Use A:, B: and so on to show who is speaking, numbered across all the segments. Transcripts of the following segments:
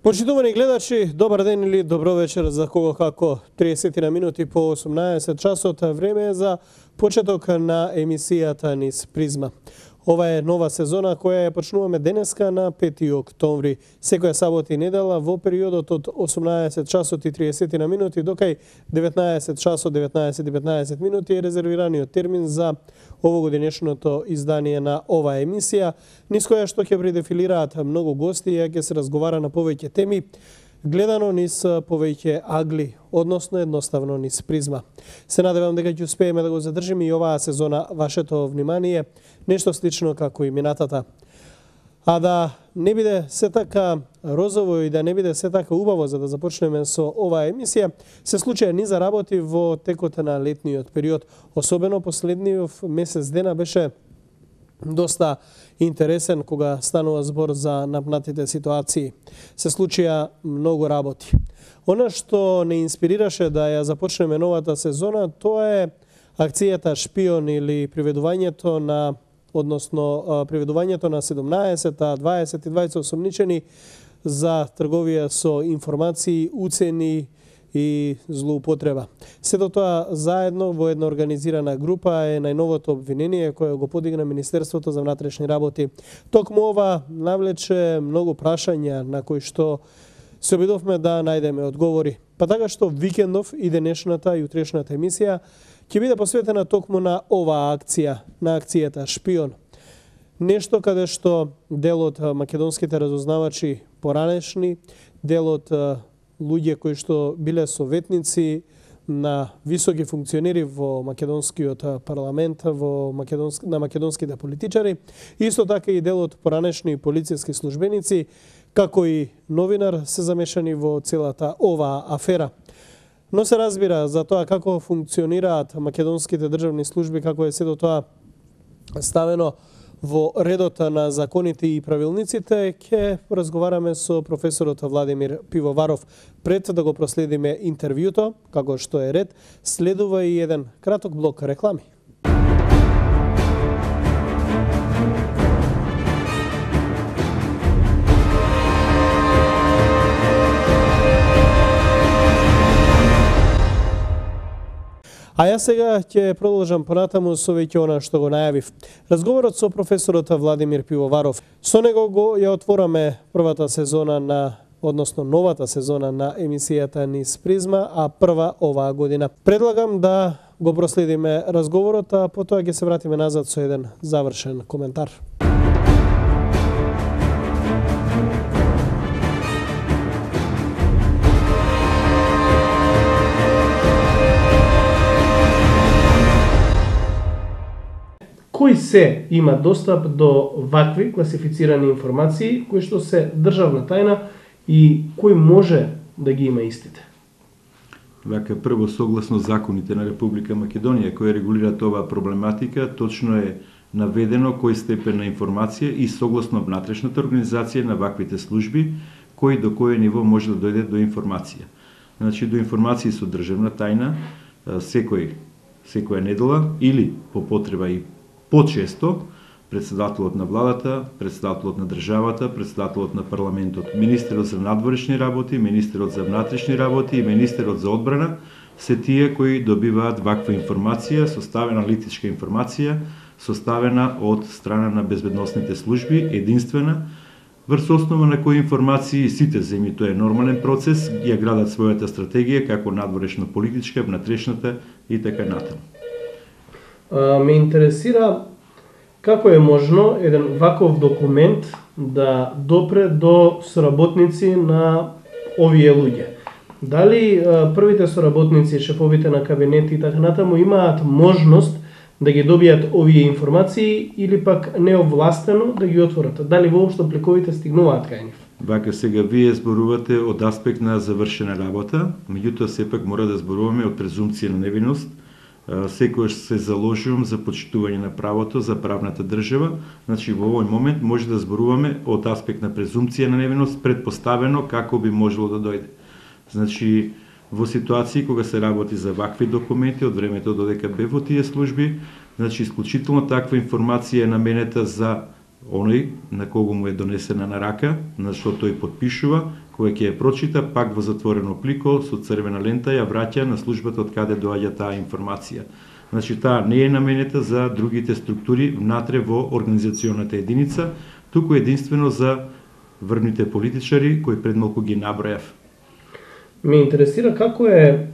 A: Почитувани гледачи, добар ден или добро вечер за кого како 30 на минути по 18 часот. Време е за почеток на емисијата низ Призма. Ова е нова сезона која ја почнуваме денеска на 5 октомври. Секоја сабота и недела во периодот од 18 часот и 30 на минути до кај 19 часот 19 минути е резервираниот термин за овогодинешното издание на оваа емисија, низ која што ќе предефилираат многу гости и ќе се разговара на повеќе теми, гледано низ повеќе агли, односно едноставно низ Призма. Се надевам дека ќе успееме да го задржиме и оваа сезона вашето внимание, нешто слично како и минатата. А да не биде се така розово и да не биде се така убаво за да започнеме со оваа емисија, се случија низа работи во текот на летниот период. Особено последниот месец дена беше доста интересен кога станува збор за напнатите ситуации. Се случија многу работи. Она што не инспирираше да ја започнеме новата сезона, тоа е акцијата Шпион или приведувањето на приведувањето на 17, 20 и 20 осомничени за трговија со информации, уцени и злоупотреба. Сето тоа заедно во една организирана група е најновото обвинение кое го подигна Министерството за внатрешни работи. Токму ова навлече многу прашања на кои што се обидовме да најдеме одговори. Па така што викендов и денешната и утрешната емисија ќе биде посветена токму на оваа акција, на акцијата Шпион. Нешто каде што дел од македонските разузнавачи поранешни, дел од луѓе кои што биле советници на високи функционери во македонскиот парламент, на македонските политичари, исто така и дел од поранешни полициски службеници, како и новинар се замешани во целата оваа афера. Но се разбира за тоа како функционираат македонските државни служби, како е сето тоа ставено во редот на законите и правилниците, ќе разговараме со професорот Владимир Пивоваров. Пред да го проследиме интервјуто, како што е ред, следува и еден краток блок реклами. А јас сега ќе продолжам понатаму со веќе она што го најавив. Разговорот со професорот Владимир Пивоваров. Со него го ја отвораме првата сезона односно новата сезона на емисијата низ Призма, а прва оваа година. Предлагам да го проследиме разговорот, а потоа ќе се вратиме назад со еден завршен коментар. Кој се има достап до вакви класифицирани информации кои што се државна тајна и кој може да ги има истите?
B: Вака, прво, согласно законите на Република Македонија кои регулираат оваа проблематика, точно е наведено кој степен на информација и согласно внатрешната организација на ваквите служби, кој до кој ниво може да дојде до информација. Значи, до информации со државна тајна, секоја недела или по потреба и почесто председателот на владата, председателот на државата, председателот на парламентот, министерот за надворешни работи, министерот за внатрешни работи и министерот за одбрана се тие кои добиваат ваква информација, составена аналитичка информација, составена од страна на безбедносните служби, единствена, врз основа на кои информации сите земји, тоа е нормален процес, ја градат својата стратегија како надворешно-политичка, внатрешната и така натаму.
A: Ме интересира како е можно еден ваков документ да допре до соработници на овие луѓе. Дали првите соработници, шефовите на кабинети и така натаму имаат можност да ги добијат овие информации или пак неовластено да ги отворат? Дали воопшто пликовите стигнуваат кај нив?
B: Вака, сега вие зборувате од аспект на завршена работа, меѓутоа сепак мора да зборуваме од презумпција на невиност. Секојаш се заложувам за почитување на правото, за правната држава. Значи, во овој момент може да зборуваме од аспект на презумпција на невиност, предпоставено како би можело да дојде. Значи, во ситуации кога се работи за вакви документи од времето додека бев во тие служби, значи исклучително таква информација е наменета за оној на кого му е донесена на рака, на што тој подпишува, кога ќе ја прочита, пак во затворено облико со црвена лента ја враќа на службата од каде доаѓа таа информација. Значи, таа не е наменета за другите структури внатре во организационата единица, туку единствено за врвните политичари кои пред малку ги набројав.
C: Ме интересира како е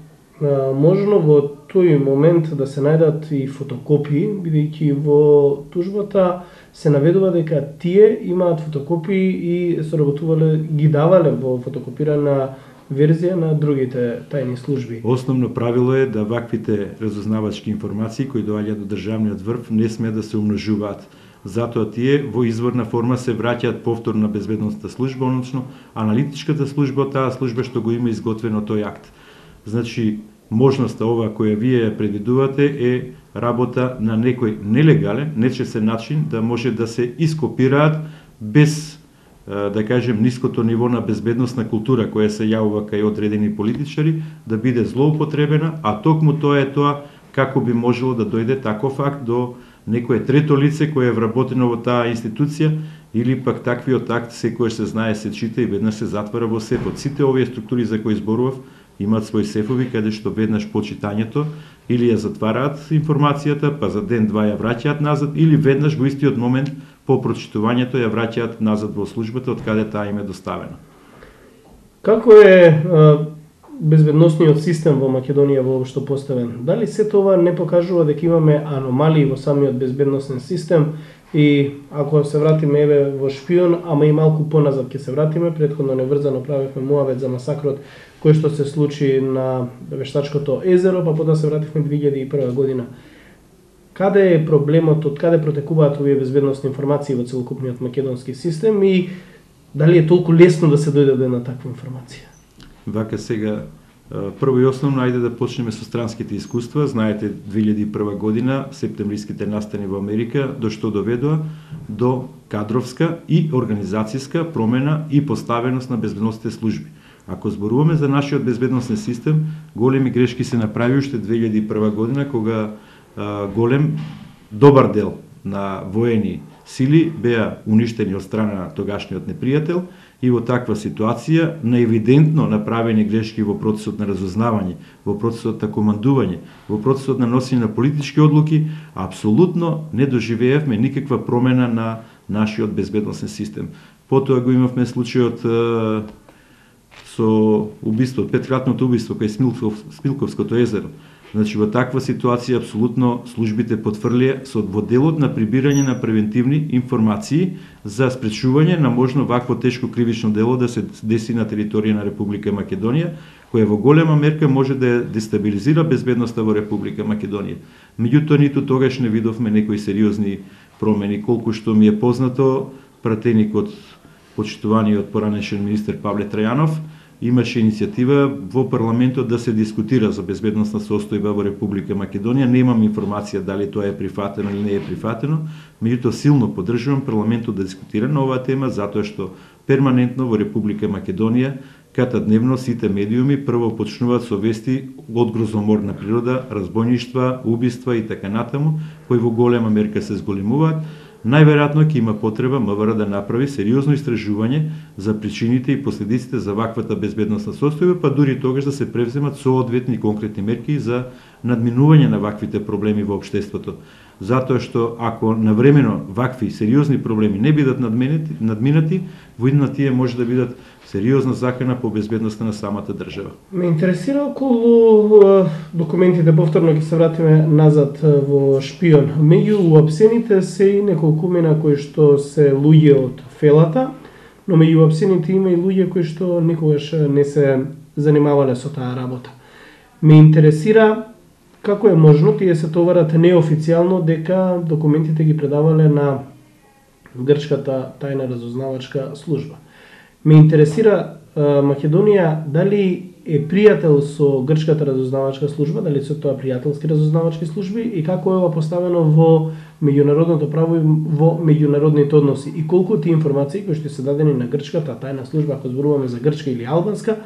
C: можно во тој момент да се најдат и фотокопии, бидејќи во тужбата се наведува дека тие имаат фотокопии и соработувале, ги давале во фотокопирана верзија на другите тајни служби.
B: Основно правило е да ваквите разузнавачки информации кои доаѓаат до државниот врв не сме да се умножуваат. Затоа тие во изворна форма се враќаат повторно на безбедносната служба, односно аналитичката служба, таа служба што го има изготвено тој акт. Значи, можноста ова која вие ја предвидувате е работа на некој нелегален, нечесен начин да може да се ископираат без, да кажем, ниското ниво на безбедносна култура која се јавува кај одредени политичари, да биде злоупотребена, а токму тоа е тоа како би можело да дојде таков акт до некое трето лице кое е вработено во таа институција, или пак таквиот акт секојаш се знае, се чита и веднаш се затвара во сефот. Сите овие структури за кои зборував имаат своји сефови каде што веднаш по читањето или ја затвараат информацијата, па за ден-два ја враќаат назад, или веднаш во истиот момент по прочитувањето ја враќаат назад во службата од каде таа им е доставена.
C: Како е безбедносниот систем во Македонија воопшто поставен? Дали се тоа не покажува дека имаме аномалии во самиот безбедносен систем? И ако се вратиме еве во шпион, ама и малку поназад ќе се вратиме, претходно неврзано правевме муавет за масакрот кој што се случи на Вештачкото езеро, па потоа се вративме 2001 година. Каде е проблемот, од каде протекуваат овие безбедносни информации во целокупниот македонски систем и дали е толку лесно да се дојде до една таква информација?
B: Вака сега, прво и основно, ајде да почнеме со странските искуства. Знаете, 2001 година, септемвриските настани во Америка, до што доведоа? До кадровска и организацијска промена и поставеност на безбедносните служби. Ако зборуваме за нашиот безбедносен систем, големи грешки се направи уште 2001 година, кога голем, добар дел на воени сили беа уништени од страна на тогашниот непријател и во таква ситуација на евидентно направени грешки во процесот на разузнавање, во процесот на командување, во процесот на носење на политички одлуки, апсолутно не доживеевме никаква промена на нашиот безбедносен систем. Потоа го имавме случајот со убиството, петкратното убиство кај Смилковското езеро. Значи, во таква ситуација, апсолутно, службите потврлија во делот на прибирање на превентивни информации за спречување на можно вакво тешко кривично дело да се деси на територија на Република Македонија, која во голема мерка може да дестабилизира безбедноста во Република Македонија. Меѓутоа, ниту тогаш не видовме некои сериозни промени, колку што ми е познато, пратеникот, почитуваниот поранешен министер Павле Трајанов, имаше иницијатива во парламентот да се дискутира за безбедносна состојба во Република Македонија. Немам информација дали тоа е прифатено или не е прифатено, меѓутоа силно поддржувам парламентот да дискутира на оваа тема, затоа што перманентно во Република Македонија катадневно сите медиуми прво почнуваат со вести од грозоморна природа, разбойништва, убиства и така натаму, кои во голема мерка се зголемуваат. Најверојатно ќе има потреба МВР да направи сериозно истражување за причините и последиците за ваквата безбедносна состојба, па дури тогаш да се превземат соодветни конкретни мерки за надминување на ваквите проблеми во општеството. Затоа што ако навремено вакви сериозни проблеми не бидат надминати, во идна тие може да бидат сериозна закана по безбедноста на самата држава.
C: Ме интересира околу документите, повторно ќе се вратиме назад во шпион. Меѓу уапсените се и неколкумина кои што се луѓе од фелата, но меѓу уапсените има и луѓе кои што никогаш не се занимавале со таа работа. Ме интересира како е можно тие се товарат неофицијално дека документите ги предавале на грчката тајна разузнавачка служба. Ме интересира Македонија дали е пријател со грчката разузнавачка служба, дали се тоа пријателски разузнавачки служби и како е ова поставено во меѓународното право и во меѓународните односи и колку тие информации кои што се дадени на грчката тајна служба, ако зборуваме за грчка или албанска,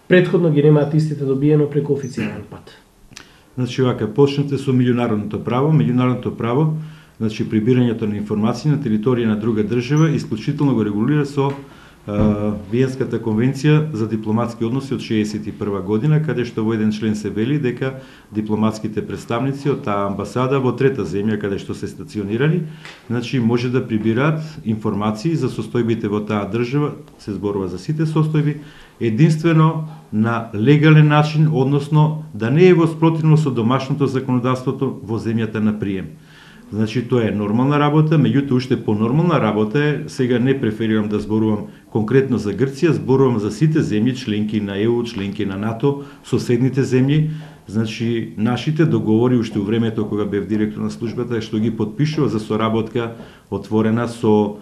C: претходно ги немаат истите добиено преку официјален пат.
B: Значи, вака, почнете со меѓународното право. Меѓународното право Значи, прибирањето на информации на територија на друга држава исклучително го регулира со Виенската конвенција за дипломатски односи од 1961 година, каде што во еден член се вели дека дипломатските представници од таа амбасада во трета земја каде што се стационирани, значи може да прибираат информации за состојбите во таа држава, се зборува за сите состојби, единствено на легален начин, односно да не е во спротивно со домашното законодавството во земјата на прием. Значи, тоа е нормална работа, меѓутоа уште понормална работа е, сега не преферирам да зборувам конкретно за Грција, зборувам за сите земји, членки на ЕУ, членки на НАТО, соседните земји. Значи, нашите договори уште во времето кога бев директор на службата, што ги подпишува за соработка отворена со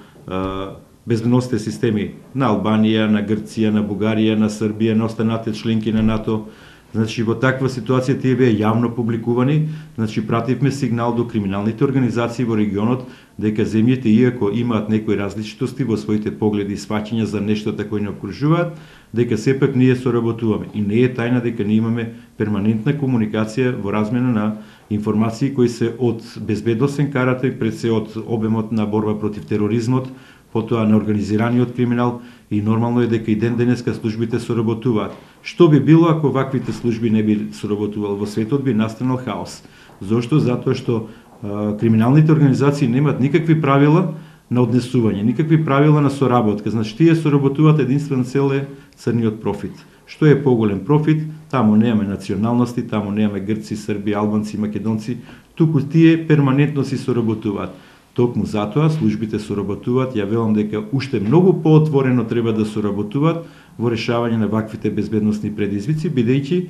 B: безбедносните системи на Албанија, на Грција, на Бугарија, на Србија, на останатите членки на НАТО. Значи, во таква ситуација тие беа јавно публикувани, значи пративме сигнал до криминалните организации во регионот дека земјите, иако имаат некои различитости во своите погледи и сваќања за нештата кои не окружуваат, дека сепак ние соработуваме. И не е тајна дека ние имаме перманентна комуникација во размена на информации кои се од безбедносен карактер, пред се од обемот на борба против тероризмот, потоа на организираниот криминал, и нормално е дека и ден денеска службите соработуваат. Што би било ако ваквите служби не би соработували? Во светот би настанал хаос. Зошто? Затоа што криминалните организации немаат никакви правила на однесување, никакви правила на соработка. Значи, тие соработуваат, единствен цел е црниот профит. Што е поголем профит? Таму немаме националности, таму немаме грци, срби, албанци, македонци, туку тие перманентно си соработуваат. Токму затоа службите соработуваат, ја велам дека уште многу поотворено треба да соработуваат во решавање на ваквите безбедносни предизвици, бидејќи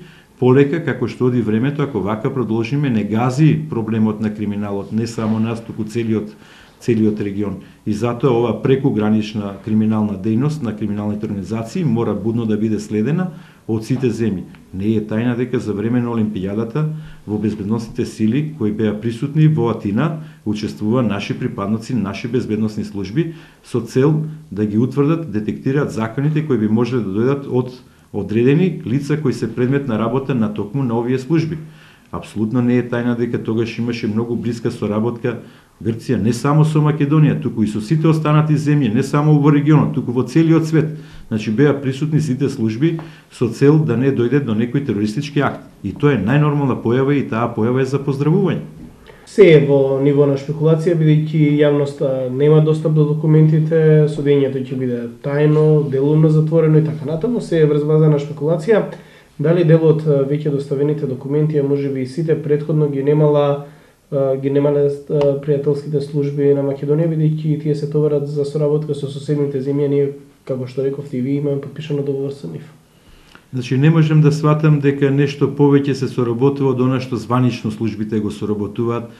B: полека како што оди времето, ако вака продолжиме, не гази проблемот на криминалот, не само нас, туку целиот регион. И затоа ова прекугранична криминална дејност на криминалните организации мора будно да биде следена од сите земји. Не е тајна дека за време на Олимпијадата во безбедносните сили кои беа присутни во Атина учествува наши припадници, наши безбедносни служби со цел да ги утврдат, детектираат законите кои би можеле да дојдат од одредени лица кои се предмет на работа на токму на овие служби. Апсолутно не е тајна дека тогаш имаше многу блиска соработка Грција не само со Македонија, туку и со сите останати земји, не само во регионот, туку во целиот свет. Значи беа присутни сите служби со цел да не дојде до некој терористички акт. И тоа е најнормална појава и таа појава е за поздравување.
C: Се е во ниво на шпекулација, бидејќи јавноста нема достап до документите, судењето ќе биде тајно, делумно затворено и така натаму, се е врз база на шпекулација. Дали делот веќе доставените документи, а можеби и сите претходно ги немале пријателските служби на Македонија, бидејќи тие се товарат за соработка со соседните земји, ние, како што рековте и ви, имаме подпишано договор со нив.
B: Значи, не можем да сватам дека нешто повеќе се соработува од она што званично службите го соработуваат.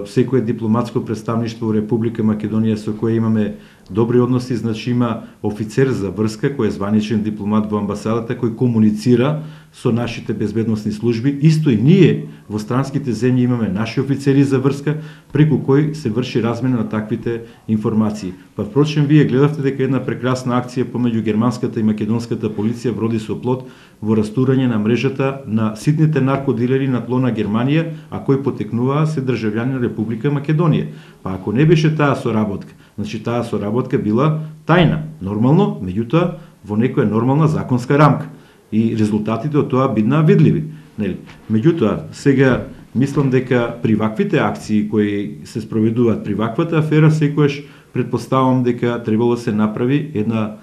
B: Секое дипломатско представништво во Република Македонија со кое имаме добри односи, значи има офицер за врска кој е званичен дипломат во амбасадата кој комуницира со нашите безбедносни служби. Исто и ние во странските земји имаме наши офицери за врска преку кој се врши размена на таквите информации. Па впрочем вие гледавте дека една прекрасна акција помеѓу германската и македонската полиција вроди со плод во растурање на мрежата на ситните наркодилери на тло на Германија, а кои потекнуваа се државјани на Република Македонија. Па ако не беше таа соработка, значи таа соработка била тајна, нормално, меѓутоа во некоја нормална законска рамка. И резултатите од тоа биднаа видливи. Нели? Меѓутоа, сега мислам дека при ваквите акции кои се спроведуваат при ваквата афера, секојаш претпоставам дека требало се направи една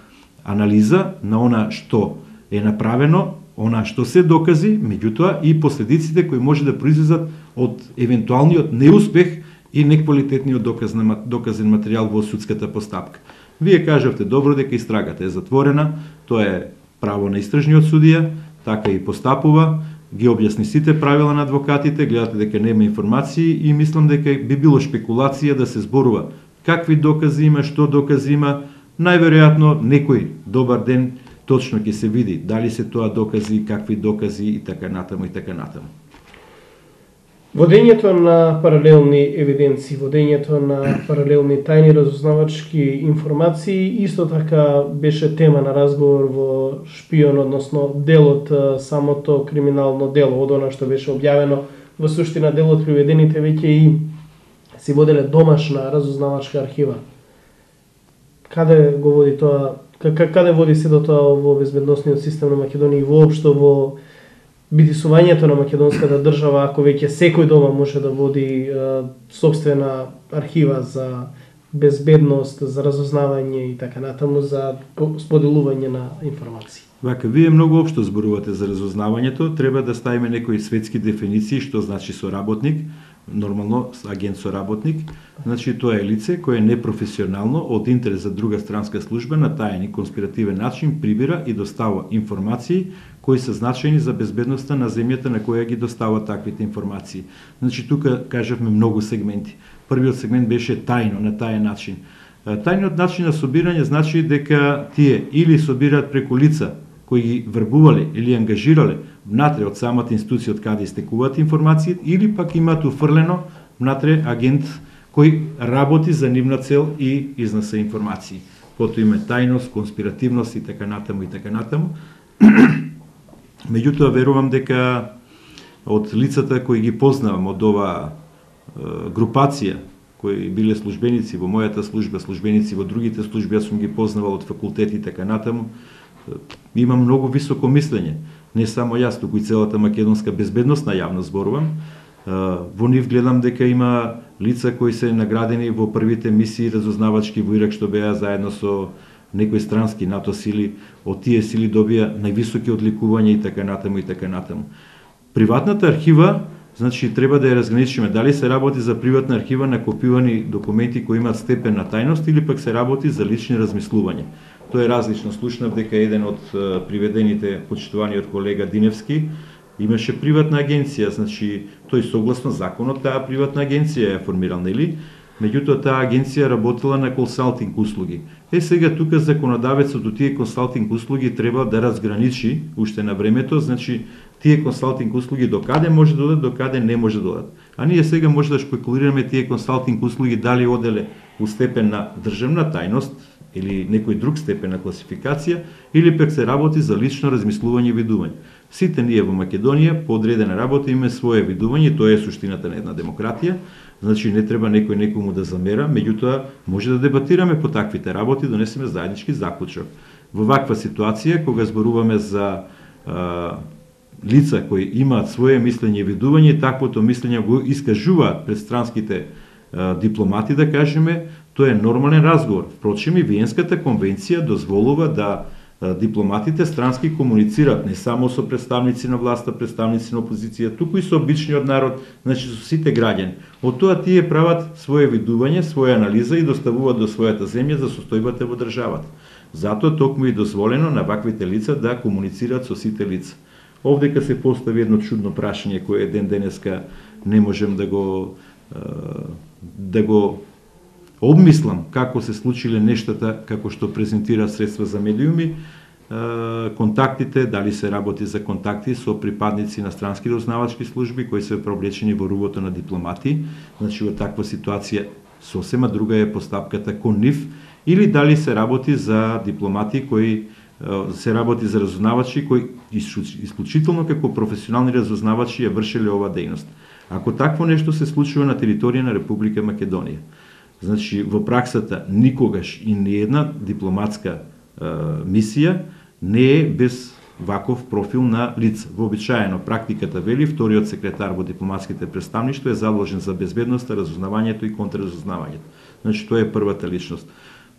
B: анализа на она што е направено, она што се докази, меѓутоа и последиците кои може да произлезат од евентуалниот неуспех и неквалитетниот доказен материјал во судската постапка. Вие кажавте добро дека истрагата е затворена, тоа е право на истражниот судија, така и постапува, ги објасни сите правила на адвокатите, гледате дека нема информации и мислам дека би било шпекулација да се зборува какви докази има, што докази има, најверојатно некој добар ден точно ќе се види дали се тоа докази, какви докази и така натаму и така натаму.
C: Водењето на паралелни евиденции, водењето на паралелни тајни разузнавачки информации исто така беше тема на разговор во Шпион, односно делот, самото криминално дело, од она што беше објавено, во суштина делот приведените веќе и си воделе домашна разузнавачка архива. Каде го води тоа? Каде води се до тоа во безбедносниот систем на Македонија и воопшто во битисувањето на македонската држава, ако веќе секој дома може да води сопствена архива за безбедност, за разузнавање и така натаму, за споделување на информации.
B: Вака, вие многу општо зборувате за разузнавањето, треба да ставиме некои светски дефиниции што значи соработник. Нормално агент соработник, значи тоа е лице кое е непрофесионално од интерес за друга странска служба на таен и конспиративен начин прибира и достава информации кои се значајни за безбедноста на земјата на која ги достава таквите информации. Значи тука кажавме многу сегменти. Првиот сегмент беше тајно, на таен начин. Тајниот начин на собирање значи дека тие или собираат преку лица кои ги врбувале или ангажирале внатре од самата институција од каде истекуваат информации, или пак имаат уфрлено внатре агент кој работи за нивна цел и изнесе информации. Потоа има тајност, конспиративност и така натаму и така натаму. Меѓутоа верувам дека од лицата кои ги познавам од оваа групација, кои биле службеници во мојата служба, службеници во другите служби, јас сум ги познавал од факултети и така натаму, има многу високо мислење. Не само јас, туку и целата македонска безбедносна јавност зборувам. Во нив гледам дека има лица кои се наградени во првите мисии разузнавачки во Ирак, што беа заедно со некои странски НАТО сили, од тие сили добија највисоки одликувања и така натаму и така натаму. Приватната архива, значи треба да ја разграничиме дали се работи за приватна архива на копирани документи кои имаат степен на тајност или пак се работи за лични размислувања. Тоа е различно. Слушнав дека еден од приведените почитуваниот колега Диневски имаше приватна агенција, значи тој согласно законот таа приватна агенција ја формирал, нели? Меѓутоа таа агенција работела на консалтинг услуги. Сега тука законодавецот од тие консалтинг услуги треба да разграничи уште на времето, значи тие консалтинг услуги до каде може да одат, до каде не може да одат. А ние сега може да шпекулираме тие консалтинг услуги дали оделе у степен на државна тајност или некој друг степен на класификација, или пак се работи за лично размислување и видување. Сите ние во Македонија по одредена работа имаме свое видување, тоа е суштината на една демократија, значи не треба некој некому да замера, меѓутоа може да дебатираме по таквите работи, донесеме заеднички заклучок. Во ваква ситуација, кога зборуваме за лица кои имаат свое мислење и видување, таквото мислење го искажуваат пред странските дипломати, да кажеме, тоа е нормален разговор. Впрочем, и Виенската конвенција дозволува да дипломатите странски комуницираат не само со представници на власта, представници на опозиција, туку и со обичниот народ, значи со сите граѓани. Од тоа тие прават свое видување, своја анализа и доставуваат до својата земја за состојбата во државата. Затоа токму и дозволено на ваквите лица да комуницираат со сите лица. Овдека се постави едно чудно прашање кое ден денеска не можем да го обмислам како се случиле нештата како што презентира средства за медиуми, контактите, дали се работи за контакти со припадници на странски разузнавачки служби кои се провлечени во рувото на дипломати, значи во таква ситуација сосема друга е постапката кон нив, или дали се работи за дипломати кои се работи за разузнавачи кои исклучително како професионални разузнавачи ја вршеле ова дејност. Ако такво нешто се случува на територија на Република Македонија, значи во праксата никогаш и ниедна дипломатска мисија не е без ваков профил на лица. Вообичаено практиката вели вториот секретар во дипломатските представништва е задолжен за безбедноста, разузнавањето и контраразузнавањето. Значи тоа е првата личност.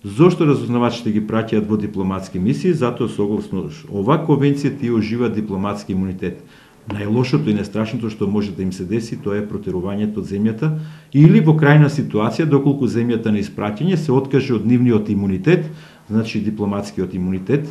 B: Зошто разузнавачите ги праќаат во дипломатски мисии? Затоа согласно оваа конвенција тие уживаат дипломатски имунитет. Најлошото и најстрашното што може да им се деси, тоа е протерувањето од земјата или во крајна ситуација, доколку земјата на испраќање се откаже од нивниот имунитет, значи дипломатскиот имунитет,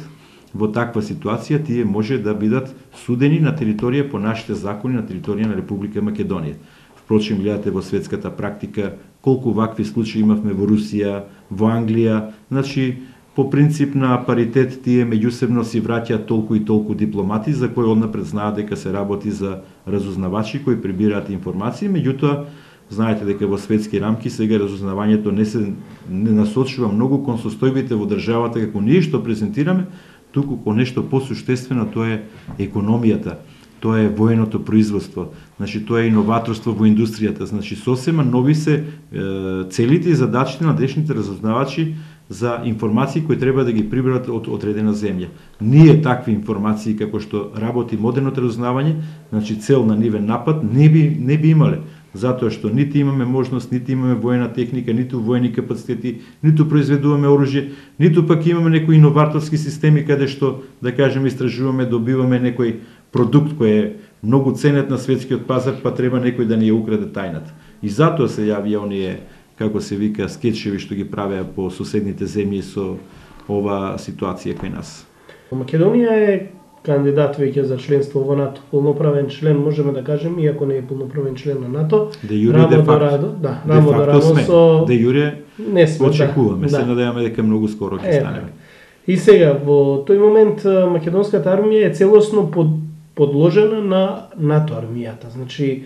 B: во таква ситуација тие може да бидат судени на територија по нашите закони на територија на Република Македонија. Впрочем, гледате во светската практика колку вакви случаи имавме во Русија, во Англија, значи по принцип на паритет тие меѓусебно си враќаат толку и толку дипломати за кои однапред знаат дека се работи за разузнавачи кои прибираат информации, меѓутоа знаете дека во светски рамки сега разузнавањето не насочува многу кон состојбите во државата како ние што презентираме, туку кон нешто посуштествено, тоа е економијата. тоа е военото производство, значи тоа е иноваторство во индустријата, значи сосема нови се целите и задачите на днешните разузнавачи за информации кои треба да ги приберат од одредена земја. Ние такви информации како што работи модерното разузнавање, значи цел на нивен напад не би имале, затоа што нити имаме можност, нити имаме воена техника, ниту воени капацитети, ниту произведуваме оружје, ниту пак имаме некои иноваторски системи каде што, да кажеме, истражуваме, добиваме некој продукт кој е многу ценет на светскиот пазар, па треба некој да ни ја украде тајната. И затоа се јавија оние, како се вика, скетчеви што ги правеа по соседните земји со ова ситуација кај нас.
C: Македонија е кандидат веќе за членство во НАТО, полноправен член, можеме да кажеме, иако не е полноправен член на НАТО.
B: Де юре де факто.
C: Да, рамо до рамо со...
B: Де юре
C: не сме,
B: очекуваме,
C: да.
B: се надеваме дека многу скоро ќе станеме.
C: И сега, во тој момент, македонската армија е целосно подложена на НАТО армијата. Значи,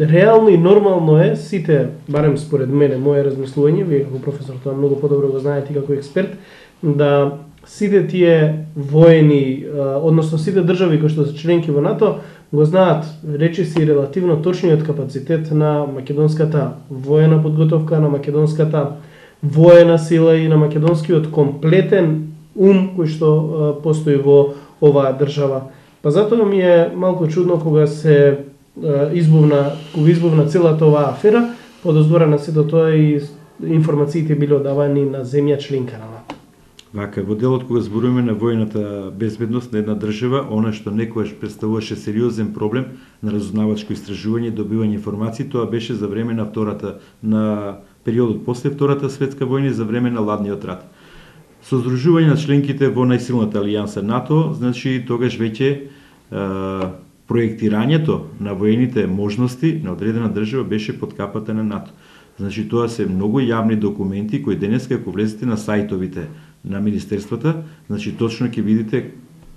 C: реално и нормално е сите, барем според мене, моје размислување, вие како професор тоа многу подобро го знаете како експерт, да сите тие воени, односно сите држави кои што се членки во НАТО, го знаат речиси релативно точниот капацитет на македонската воена подготовка, на македонската воена сила и на македонскиот комплетен ум кој што постои во оваа држава. Па затоа ми е малку чудно кога се избувна целата оваа афера, подоздора на сето тоа и информациите биле одавани на земја членка на НАТО.
B: Вака, во делот кога зборуваме на војната безбедност на една држава, она што некојаш представуваше сериозен проблем на разузнавачко истражување и добивање информации, тоа беше за време на периодот после Втората светска војна и за време на Ладниот рат. Со здружување на членките во најсилната алијанса НАТО, значи тогаш веќе проектирањето на воените можности на одредена држава беше под капата на НАТО. Значи тоа се многу јавни документи кои денеска ако влезете на сајтовите на министерствата, значи точно ќе видите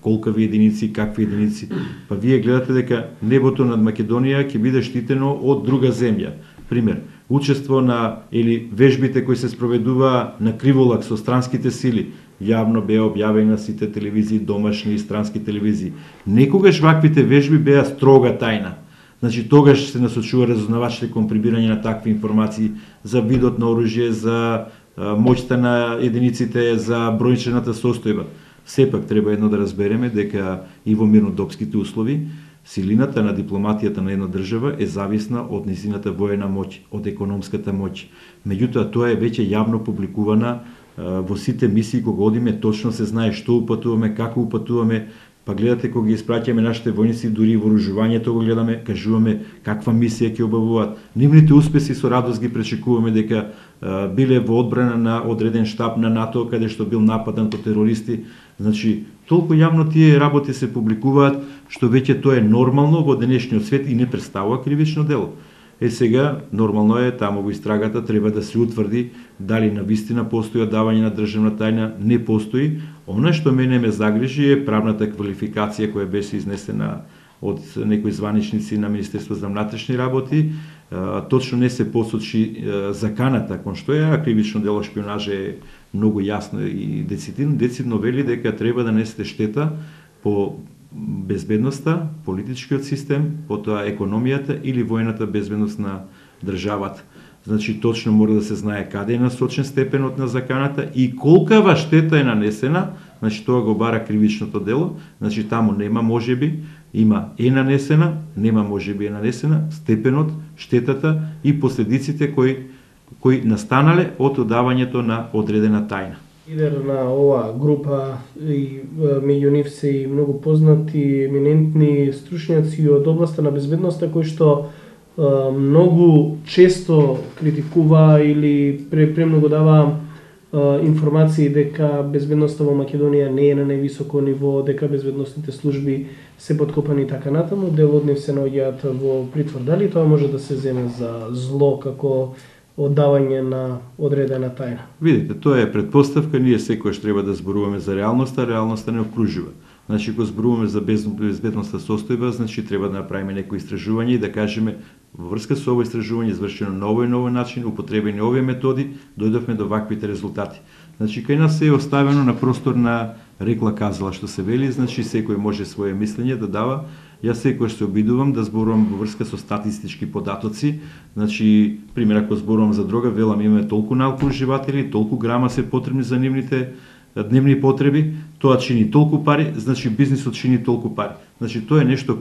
B: колкави единици, какви единици. Па вие гледате дека небото над Македонија ќе биде штитено од друга земја. Пример, учество на или вежбите кои се спроведува на криволак со странските сили, јавно беа објавени на сите телевизии, домашни и странски телевизии. Некогаш ваквите вежби беа строга тајна. Значи тогаш се насочува разузнавачите кон прибирање на такви информации за видот на оружје, за моќта на единиците, за бројчената состојба. Сепак треба едно да разбереме дека и во мирнодопските услови силината на дипломатијата на една држава е зависна од низината воена моќ, од економската моќ. Меѓутоа тоа е веќе јавно публикувана во сите мисии кога одиме, точно се знае што упатуваме, како упатуваме. Па гледате кога ги испраќаме нашите војници, дури и вооружувањето го гледаме, кажуваме каква мисија ќе обавуваат. Нивните успеси со радост ги пречекуваме дека биле во одбрана на одреден штаб на НАТО каде што бил нападен од терористи. Значи, толку јавно тие работи се публикуваат што веќе тоа е нормално во денешниот свет и не представува кривично дело. Сега, нормално е, таму во истрагата треба да се утврди дали навистина постои одавање на државна тајна, не постои. Она што мене ме загрижи е правната квалификација која беше изнесена од некои званичници на Министерство за внатрешни работи. Точно не се посочи заканата кон што е, а кривично дело шпионажа е многу јасно и децидно вели дека треба да несете штета по безбедноста, политичкиот систем, потоа економијата или војната безбедност на државата. Значи точно мора да се знае каде е насочен степенот на заканата и колкава штета е нанесена, значи тоа го бара кривичното дело, значи таму нема можеби, има е нанесена, нема можеби е нанесена, степенот, штетата и последиците кои настанале од одавањето на одредена тајна.
C: Лидер на оваа група и меѓу нив се и многу познати, еминентни стручњаци од областа на безбедноста кои што многу често критикува или премногу дава информации дека безбедноста во Македонија не е на највисоко ниво, дека безбедносните служби се подкопани и така натаму, дел од нив се наоѓаат во притвор. Дали тоа може да се земе за зло како оддавање на одредена тајна?
B: Видите, тоа е предпоставка, ние секојаш треба да зборуваме за реалноста, реалноста не окружува. Значи, кога зборуваме за безбедностна состојба, значи треба да направиме некои истражување и да кажеме во врска со ово истражување извршено на овој начин, употребени овие методи, дојдовме до ваквите резултати. Значи, кај нас е оставено на простор на рекла казала што се вели, значи секој може своје мислење да дава. Јас секогаш се обидувам да зборувам во врска со статистички податоци. Значи, пример, ако зборувам за дрога, велам имаме толку наукоуживатели, толку грама се потребни за нивните дневни потреби, тоа чини толку пари, значи бизнисот чини толку пари. Значи, тоа е нешто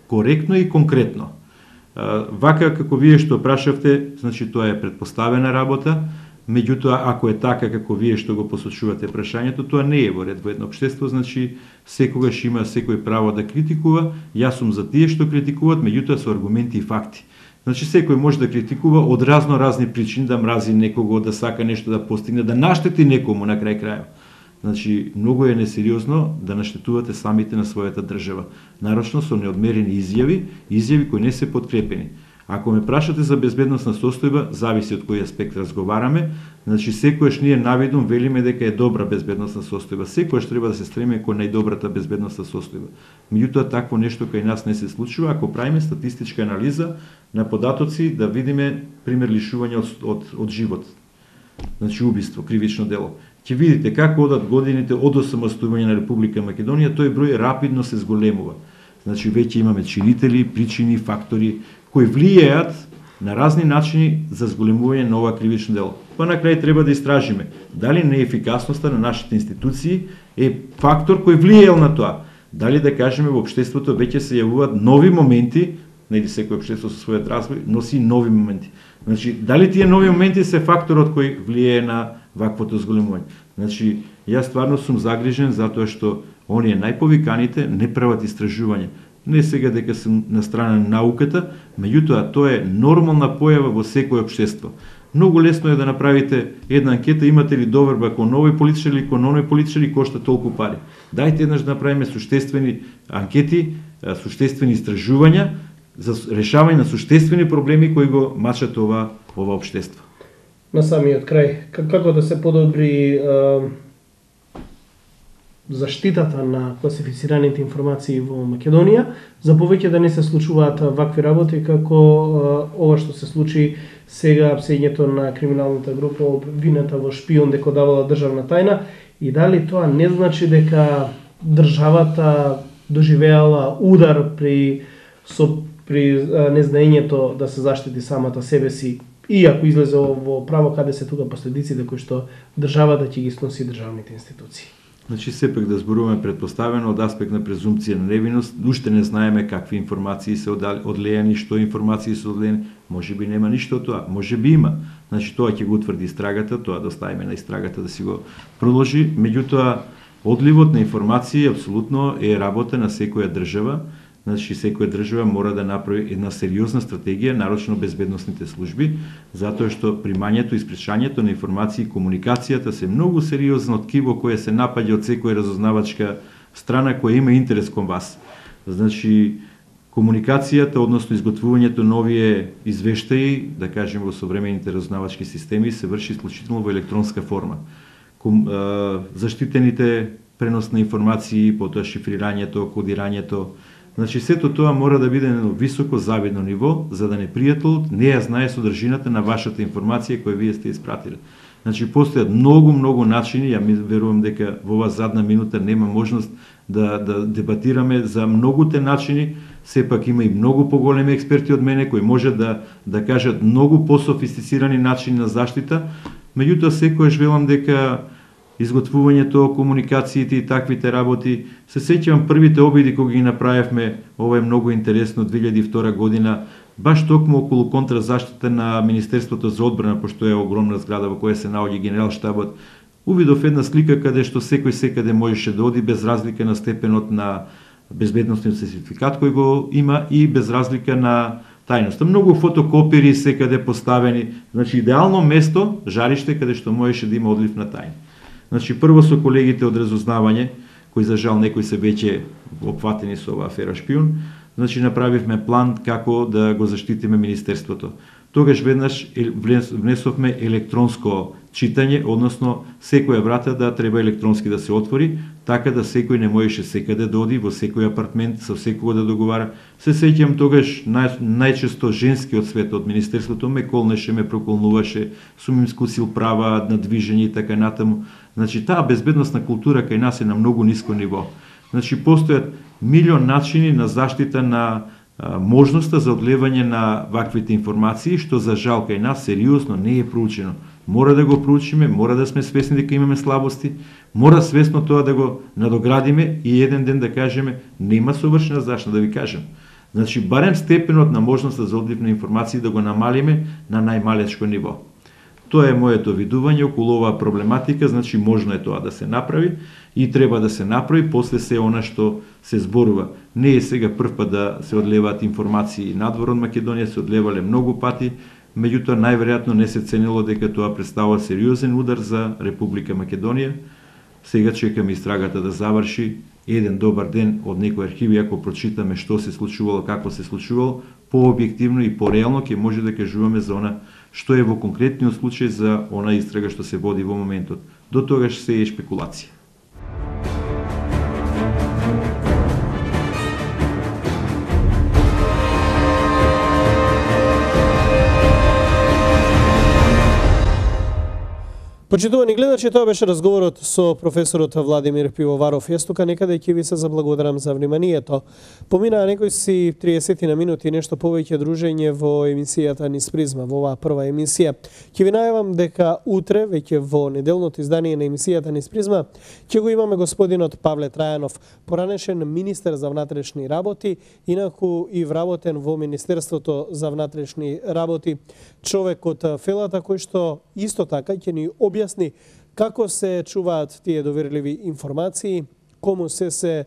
B: коректно и конкретно. Вака, како вие што прашавте, значи тоа е предпоставена работа, меѓутоа, ако е така како вие што го посочувате прашањето, тоа не е во ред во едно општество, значи секогаш има секој право да критикува, јас сум за тие што критикуваат, меѓутоа со аргументи и факти. Значи секој може да критикува од разни причини, да мрази некого, да сака нешто да постигне, да наштети некому на крај крајот. Значи, многу е несериозно да наштетувате самите на својата држава. Нарочно со неодмерени изјави кои не се подкрепени. Ако ме прашате за безбедносна состојба, зависи од кој аспект разговараме. Значи, секојаш ние навидум велиме дека е добра безбедносна состојба. Секојаш треба да се стремиме кон најдобрата безбедносна состојба. Меѓутоа, такво нешто кај нас не се случува ако правиме статистичка анализа на податоци, да видиме пример лишување од живот. Значи, убиство, кривично дело. Ќе видите како одат годините од осамостојување на Република Македонија, тој број рапидно се зголемува. Значи, веќе имаме чинители, причини, фактори кои влијаат на разни начини за зголемување на ова кривично дело. Па на крај треба да истражиме дали неефикасноста на нашите институции е фактор кој влијаел на тоа. Дали да кажеме во општеството веќе се јавуваат нови моменти, нели секој општество со својот развој носи нови моменти. Значи, дали тие нови моменти се факторот кој влијае на ваквото зголемување? Значи, јас стварно сум загрижен затоа што оние најповиканите не прават истражување. Не сега дека сум на страна на науката, меѓутоа тоа е нормална појава во секој општество. Многу лесно е да направите една анкета, имате ли доверба кон овој политичар или кон оној политичар и кошта толку пари. Дајте еднаш да направиме суштествени анкети, суштествени истражувања за решавање на суштествени проблеми кои го мачат ова општество.
C: На самиот крај, како да се подобри заштитата на класифицираните информации во Македонија, за повеќе да не се случуваат вакви работи како ова што се случи сега, псењето на криминалната група обвинета во шпион дека давала државна тајна, и дали тоа не значи дека државата доживеала удар при незнаењето да се заштити самата себе си, и ако излезе во право, каде се тука последиците кои што државата ќе ги сноси државните институции?
B: Значи, сепак да зборуваме предпоставено од аспект на презумпција на невиност, уште не знаеме какви информации се одлејани, што информации се одлејани, може би нема ништо од тоа, може би има. Значи, тоа ќе го утврди истрагата, тоа да оставиме на истрагата да си го продолжи, меѓутоа, одливот на информации апсолутно е работа на секоја држава. Значи, секоја држава мора да направи една сериозна стратегија, нарочно безбедносните служби, затоа што примањето и испречањето на информации и комуникацијата се многу сериозно ткиво кое се напаѓа од секоја разузнавачка страна која има интерес кон вас. Значи, комуникацијата, односно изготвувањето на овие извештаи, да кажеме во современите разузнавачки системи, се врши исклучително во електронска форма. Заштитените пренос на информации, потоа шифрирањето, кодирањето, значи, сето тоа мора да биде на високо завидно ниво, за да непријателот не ја знае содржината на вашата информација која вие сте испратиле. Значи, постојат многу начини, ја верувам дека во оваа задна минута нема можност да дебатираме за многуте начини, сепак има и многу поголеми експерти од мене кои може да кажат многу пософистицирани начини на заштита, меѓутоа секојаш велам дека изготвувањето, комуникациите и таквите работи. Се сеќавам првите обиди кога ги направивме, ова е многу интересно, 2002 година, баш токму околу контразаштита на Министерството за одбрана, пошто е огромна зграда во која се наоѓа генералштабот. Увидов една слика каде што секој секаде можеше да оди без разлика на степенот на безбедносниот сертификат кој го има и без разлика на тајноста. Многу фотокопири секаде поставени, значи идеално место, жариште каде што можеше да има одлив на тајна. Значи, прво со колегите од разузнавање, кои за жал некои се веќе опфатени со оваа афера шпион, значи направивме план како да го заштитиме Министерството. Тогаш веднаш внесовме електронско читање, односно секоја врата да треба електронски да се отвори, така да секој не можеше секаде да оди во секој апартмент, со секого да договара. Се сеќам тогаш најчесто женскиот свет од Министерството ме колнеше, ме проколнуваше, сум им скусил права на движење и така натаму. Значи, таа безбедносна култура кај нас е на многу ниско ниво. Значи, постојат милион начини на заштита на можноста за одлевање на ваквите информации, што за жал кај нас сериозно не е проучено. Мора да го проучиме, мора да сме свесни дека имаме слабости, мора свесно тоа да го надоградиме и еден ден да кажеме нема совршена заштита, да ви кажем. Значи, барем степенот на можноста за одлив на информации да го намалиме на најмалечко ниво. Тоа е моето видување околу оваа проблематика, значи можно е тоа да се направи и треба да се направи после се она што се зборува. Не е сега прв пат да се одлеваат информации надвор од Македонија, се одлевале многу пати, меѓутоа најверојатно не се ценило дека тоа представува сериозен удар за Република Македонија. Сега чекаме истрагата да заврши. Еден добар ден од некои архиви, ако прочитаме што се случувало, како се случувало, пообјективно и пореално ќе може да кажуваме за она што е во конкретниот случај за она истрага што се води во моментот. До тогаш се е шпекулација.
A: Почитувани гледачи, тоа беше разговорот со професорот Владимир Пивоваров. Јас тука некаде ќе ви се заблагодарам за вниманието. Поминаа некои си 30 на минути нешто повеќе дружење во емисијата Низ призма, во оваа прва емисија. Ќе ви најавам дека утре, веќе во неделното издание на емисијата Низ призма, ќе го имаме господинот Павле Трајанов, поранешен министер за внатрешни работи, инаку и вработен во Министерството за внатрешни работи, човек од Фелата кој што исто така ќе ни објасни како се чуваат тие доверливи информации, кому се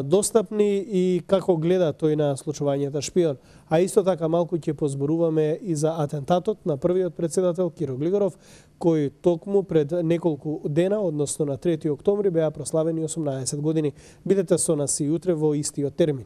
A: достапни и како гледа тој на случувањето шпион. А исто така малку ќе позборуваме и за атентатот на првиот председател Киро Глигоров, кој токму пред неколку дена, односно на 3 октомври, беа прославени 18 години. Бидете со нас и утре во истиот термин.